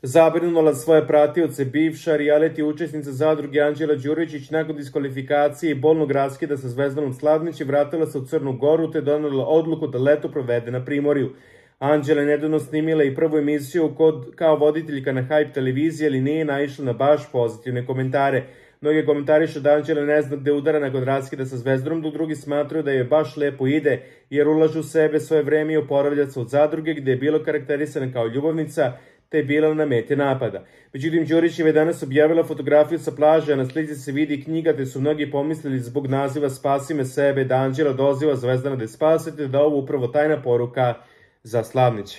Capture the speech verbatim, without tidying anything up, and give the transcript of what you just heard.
zabrinula svoje pratioce. Bivša reality učesnica zadruge Anđela Đuričić nakon diskvalifikacije i bolnog raskida sa Zvezdanom Slavnić vratila se u Crnu Goru te donela odluku da leto provede na Primorju. Anđela je nedavno snimila i prvu emisiju kod, kao voditeljka na Hype televiziji, ali nije naišla na baš pozitivne komentare. Mnogi komentarišu da Anđela ne zna gde udara nakon raskida sa Zvezdanom, dok drugi smatraju da joj baš lepo ide, jer ulažu u sebe svoje vreme i oporavlja se od zadruge gde je bilo karakterisana kao ljubavnica, te je bila na meti napada. Međutim, Đurićeva je danas objavila fotografiju sa plaže, a na slici se vidi knjiga, te su mnogi pomislili zbog naziva Spasi me sebe da Anđela doziva Zvezdana da je spasete, da ovo upravo tajna poruka za Slavnić.